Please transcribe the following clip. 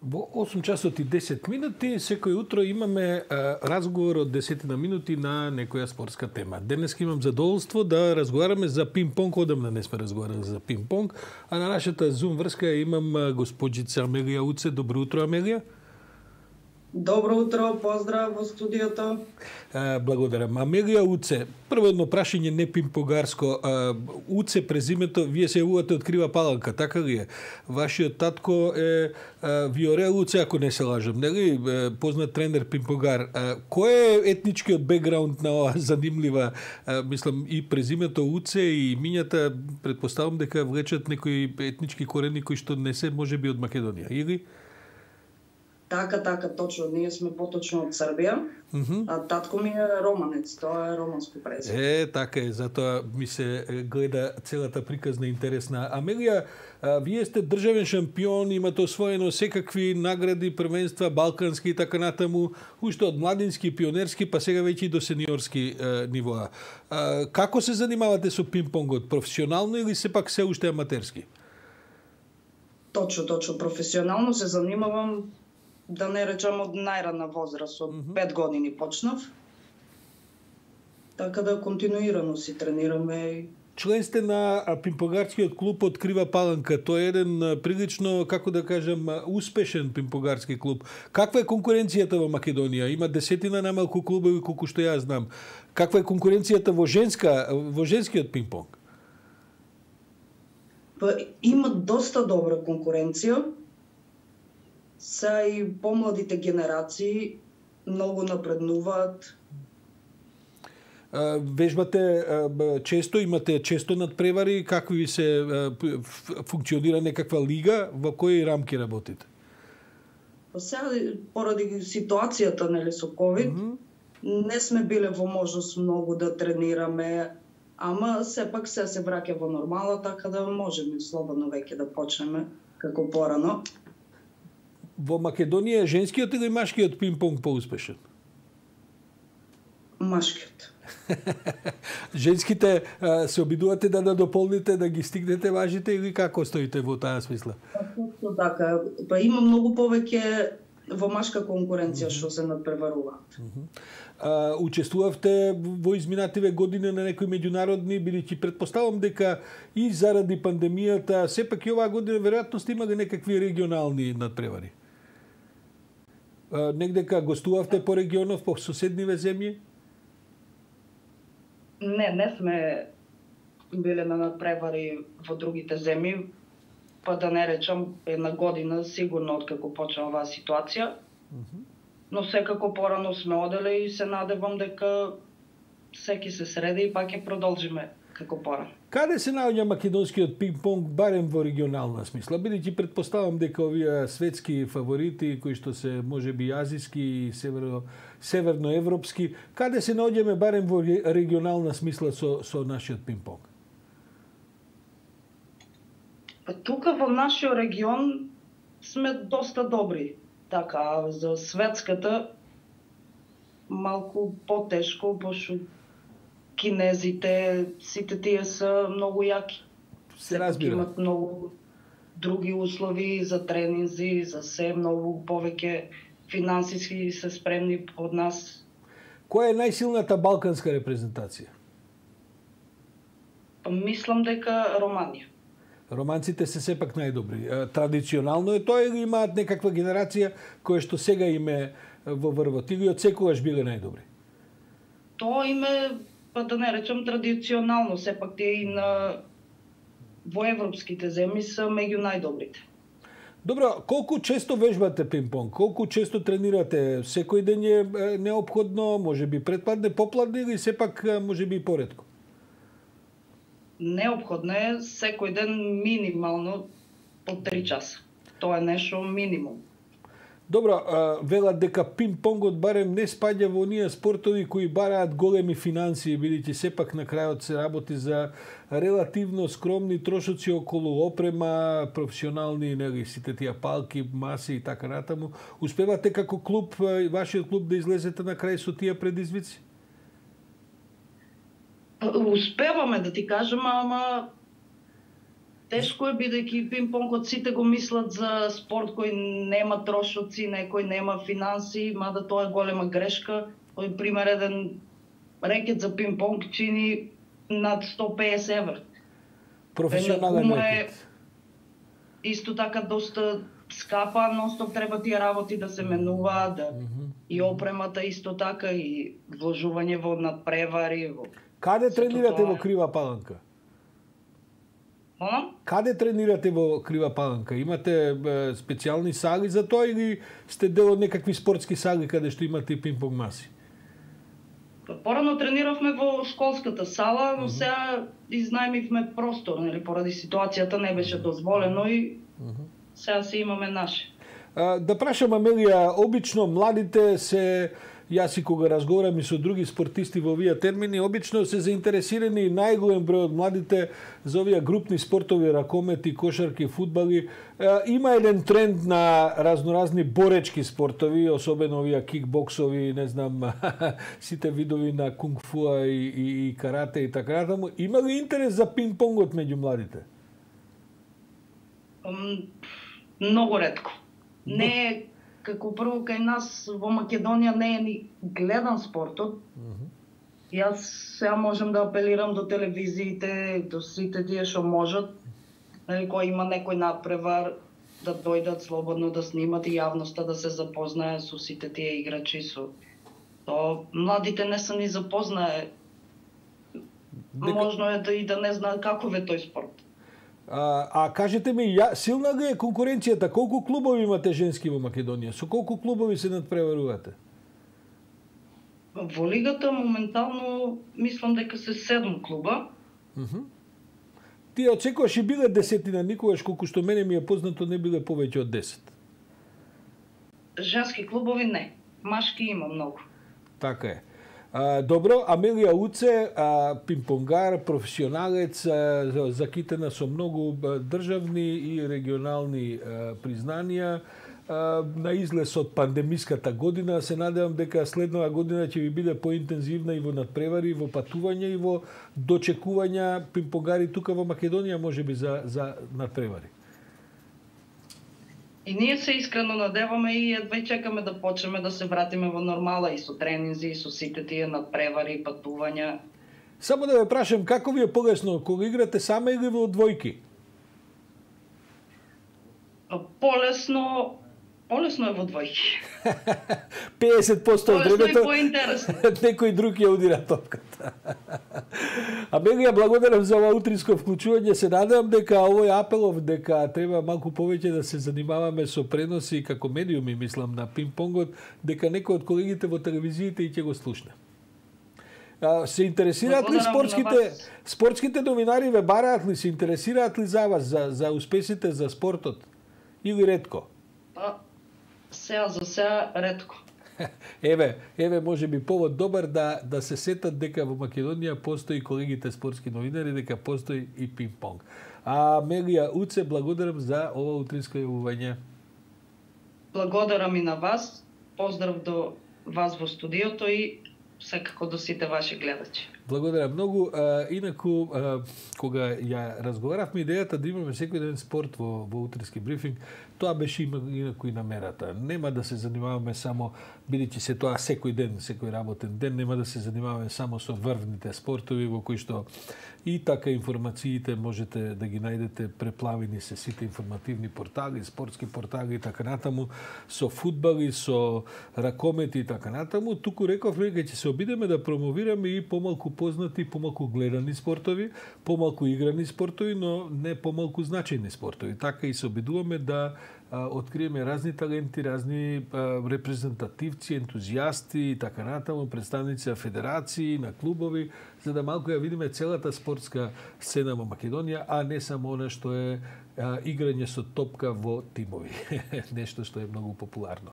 Во 8 часот и 10 минути, секој утро имаме разговор од 10 минути на некоја спортска тема. Денес имам задоволство да разговараме за пинг-понг, одамна не сме разговарали за пинг-понг, а на нашата Zoom врска имам госпоđица Амелија Уце. Добро утро, Амелија. Добро утро, поздрав во студиото. Благодарам. Амелија Уце, прво едно прашање не пинг-понгарско. Уце презимето, вие се јавувате од Крива Паланка, така ли е? Вашиот татко е Виорел Уце, ако не се лажам, нели? Познат тренер пинг-понгар. Кој е етничкиот бекграунд на оваа занимлива, мислам, и презимето Уце и имињата, предпоставам дека влечат некои етнички корени кои што не се можеби од Македонија, или? Така, точно. Ние сме поточно од Србија, а татко ми е романец, тоа е романско презиме. Така е, затоа ми се гледа целата приказна интересна. Амелија, вие сте државен шампион, имате освоено секакви награди, првенства, балкански и така натаму, уште од младински, пионерски, па сега веќе и до сениорски нивоа. Како се занимавате со пинг-понгот? Професионално или сепак се уште аматерски? Точно. Професионално се занимавам, да не речам, од најрана возраст, од 5 години почнав. Така да континуирано си тренираме. Член сте на пинг-понгарскиот клуб од Крива Паланка. Тој е еден прилично, како да кажам, успешен пинг-понгарски клуб. Каква е конкуренцијата во Македонија? Има десетина намалку клубови колку што јас знам. Каква е конкуренцијата во женскиот пинг-понг? Има доста добра конкуренција. Са и помладите генерации многу напреднуваат. Вежбате често, имате често надпревари, какви ви се функционира некаква лига, во кои рамки работите? Сега, поради ситуацијата, нели, со ковид, не сме биле во можност многу да тренираме, ама сепак се враќа во нормала, така да можеме слободно веќе да почнеме како порано. Во Македонија женскиот или машкиот пинг-понг поуспешен? Машкиот. Женските се обидувате да дополните, да ги стигнете важите или како стоите во таа смисла? Точно така. Па има многу повеќе во машка конкуренција што се надпреваруваат. Учествувавте во изминативе години на некои меѓународни, бидејќи предпоставам дека и заради пандемијата, сепак и оваа година веројатно сте имали некакви регионални надпревари. Негдека гостувавте по регионов, по соседниве земји? Не сме биле на надпревари во другите земји, па да не речам една година сигурно откако почна оваа ситуација. Но секако порано сме оделе и се надевам дека секи се среди и пак ќе продолжиме како порано. Каде се наоѓа македонскиот пинг-понг, барем во регионална смисла? Бидејќи предпоставам дека овие светски фаворити, кои што се можеби азиски и северноевропски, каде се наоѓаме барем во регионална смисла со нашиот пинг-понг? Тука во нашиот регион сме доста добри. Така, за светската малку потешко, пошто кинезите, сите тие се многу јаки. Се разбира. Имат многу други услови за тренинзи, за се, многу повеќе финансиски се спремни од нас. Која е најсилната балканска репрезентација? Мислам дека Романија. Романците се сепак најдобри. Традиционално е тоа или имаат некаква генерација која што сега име во врвот или од секогаш биле најдобри? Тоа име, па да не речем традиционално, сепак тие и во европските земји се меѓу најдобрите. Добро, колку често вежбате пинг-понг? Колку често тренирате? Секој ден е неопходно, можеби предпладне, попладне или сепак можеби и поретко? Неопходно е секој ден минимално по 3 часа. Тоа е нешто минимум. Добро, велат дека пинг-понгот барем не спаѓа во оние спортови кои бараат големи финансии, бидејќи сепак на крајот се работи за релативно скромни трошоци околу опрема, професионални, нели, сите тие палки, маси и така натаму. Успевате како клуб, вашиот клуб, да излезете на крај со тие предизвици? Успеваме, да ти кажам, ама Тешко е бидејќи пинг-понгот сите го мислат за спорт кој нема трошоци, некој нема финанси, мада тоа е голема грешка. Тој пример еден рекет за пинг-понг чини над 150 евра. Професионален рекет. Исто така доста скапа, ностоп треба тие работи да се менуваат, и опремата исто така, и вложување во надпревари. Каде тренирате во Крива Паланка? Каде тренирате во Крива Паланка? Имате специјални сали за тоа или сте дел од некакви спортски сали каде што имате пинг-понг маси? Порано трениравме во школската сала, но сега изнајмивме простор, нели, поради ситуацијата не беше дозволено и сега се имаме наше. Да прашам, Амелија, обично младите се, јас и кога разговарам и со други спортисти во овие термини, обично се заинтересирани најголем број од младите за овие групни спортови, ракомети, кошарки, фудбали. Има еден тренд на разноразни боречки спортови, особено овие кикбоксови, не знам, сите видови на кунг-фуа и карате и така натаму. Има ли интерес за пинг-понгот меѓу младите? Многу ретко. Не е, како прво кај нас во Македонија не е ни гледан спортот. Јас сега можам да апелирам до телевизиите, до сите тие што можат, нали, кој има некој надпревар, да дојдат слободно да снимат и јавноста да се запознае со сите тие играчи. То младите не се ни запознае. Можно е да не знаат каков е тој спорт. А кажете ми, силна ли е конкуренцијата? Колку клубови имате женски во Македонија? Со колку клубови се надпреварувате? Во лигата моментално мислам дека се 7 клуба. Тие очекуваш и биле десетина, никогаш колку што мене ми е познато не биле повеќе од 10. Женски клубови не, машки има многу. Така е. Добро, Амелија Уце, пинг-понгар, професионалец, закитена со многу државни и регионални признанија. На излез од пандемиската година, се надевам дека следнава година ќе ви биде поинтензивна и во надпревари, и во патување, и во дочекувања пинг-понгари тука во Македонија, можеби за надпревари. И ние се искрено надеваме и едва чекаме да почнеме да се вратиме во нормала и со тренинзи, и со сите тие надпревари, патувања. Само да ве прашам, како ви е полесно, кога играте сама или во двојки? Полесно е во двојки. 50% од времето некој друг ја удира топката. Амелија, благодарам за ова утринско вклучување. Се надевам дека овој апелов дека треба малку повеќе да се занимаваме со преноси како медиуми, мислам, на пинг-понгот, дека некој од колегите во телевизиите и ќе го слушне. Се интересираат ли спортските новинари, ве бараат ли, се интересираат ли за вас, за успесите, за спортот? Или ретко? Сега за сега ретко. Еве може би повод добар да се сетат дека во Македонија постои колегите спортски новинари, дека постои и пинг-понг. Амелија Уце, благодарам за ова утринско јавување. Благодарам и на вас. Поздрав до вас во студиото и секако до сите ваши гледачи. Благодарам многу. Инаку, кога ја разговаравме идејата да имаме секој ден спорт во утрински брифинг, тоа беше инаку и намерата. Нема да се занимаваме само, бидејќи се тоа секој ден, секој работен ден, нема да се занимаваме само со врвните спортови во кои што и така информациите можете да ги најдете, преплавени се сите информативни портали, спортски портали и така натаму, со фудбали, со ракомети и така натаму. Туку рековме дека ќе се обидеме да промовираме и помалку познати, помалку гледани спортови, помалку играни спортови, но не помалку значајни спортови. Така и се обидуваме да откриеме разни таленти, разни репрезентативци, ентузијасти и така натаму, представници на федерации, на клубови, за да малку ја видиме целата спортска сцена во Македонија, а не само она што е играње со топка во тимови. Нешто што е многу популарно.